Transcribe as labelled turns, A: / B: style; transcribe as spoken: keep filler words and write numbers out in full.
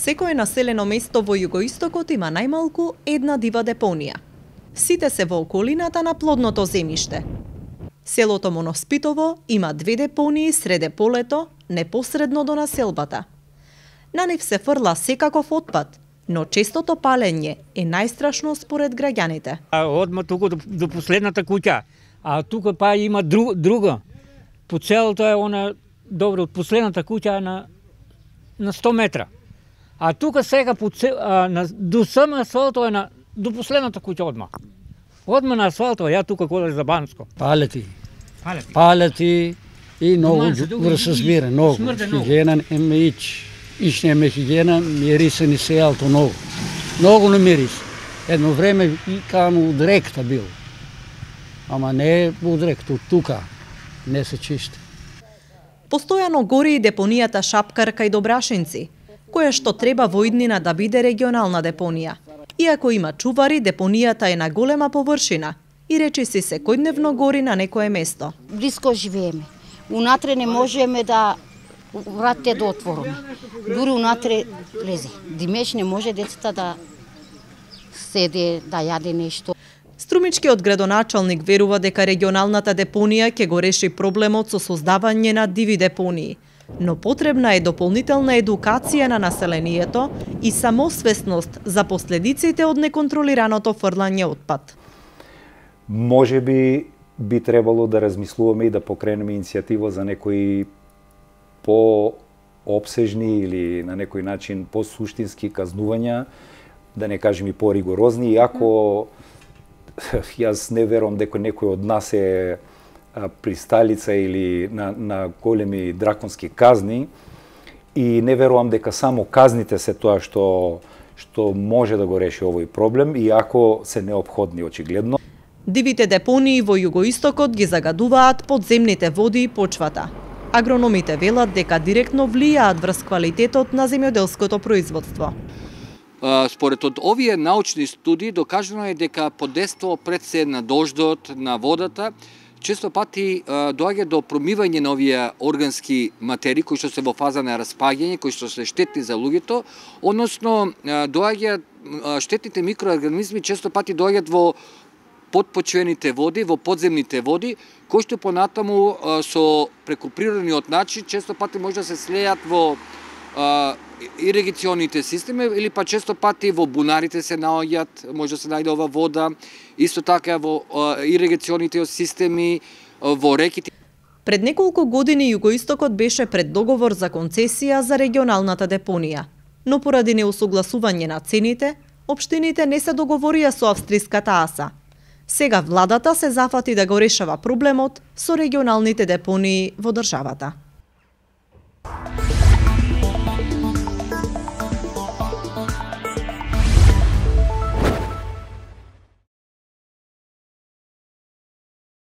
A: Секое населено место во југоистокот има најмалку една дива депонија. Сите се во околината на плодното земјиште. Селото Моноспитово има две депонии среде полето, непосредно до населбата. На нив се фрла секаков отпад, но честото палење е најстрашно според граѓаните.
B: Одма тука до, до последната куќа, а тука па има друг, друга. По целото е она, добро, од последната куќа на, на сто метра. А тука сега по цел, а, на, до сама асфалто е на, до последната куќа одма. Одма на асфалто, ја тука кога за Банско.
C: Палети.
B: Палети.
C: Палети и многу врса збира, многу. Хигиена ема ич. Ич нема хигиена, мириса ни сеалто многу. Многу не мирис. Едно време и каму дректа бил. Ама не у дректа, тука. Не се чисти.
A: Постојано гори и депонијата Шапкар кај Добрашинци, која што треба во иднина да биде регионална депонија. Иако има чувари, депонијата е на голема површина и речиси секојдневно гори на некое место.
D: Близко живееме. Унатре не можеме да вратите да отвориме. Дури унатре влезе. Димеш не може децата да седе, да јаде нешто.
A: Струмичкиот градоначалник верува дека регионалната депонија ќе го реши проблемот со создавање на диви депонии, но потребна е дополнителна едукација на населението и самосвесност за последиците од неконтролираното фрлање отпад.
E: Може би би требало да размислуваме и да покренеме иницијатива за некои по-обсежни или на некој начин по-суштински казнувања, да не кажем и по-ригорозни, иако јас не верувам дека некој од нас е присталица или на, на големи драконски казни и не верувам дека само казните се тоа што што може да го реши овој проблем, иако се неопходни очигледно.
A: Дивите депонии во југоистокот ги загадуваат подземните води и почвата. Агрономите велат дека директно влијаат врз квалитетот на земјоделското производство.
F: Според од овие научни студии докажано е дека подейство пред се на дождот, на водата, често пати доаѓа до промивање на овие органски материи кои што се во фаза на распаѓање, кои што се штетни за луѓето, односно доаѓа штетните микроорганизми често пати доаѓаат во подпочвените води, во подземните води, кои што понатаму со преку природниот начин често пати може да се слеат во иригационите системи или па често пати во бунарите се наоѓаат, може да се најде ова вода, исто така во иригационите системи, во реките.
A: Пред неколку години југоистокот беше пред договор за концесија за регионалната депонија, но поради неусогласување на цените, општините не се договорија со австриската АСА. Сега владата се зафати да го решава проблемот со регионалните депонии во државата.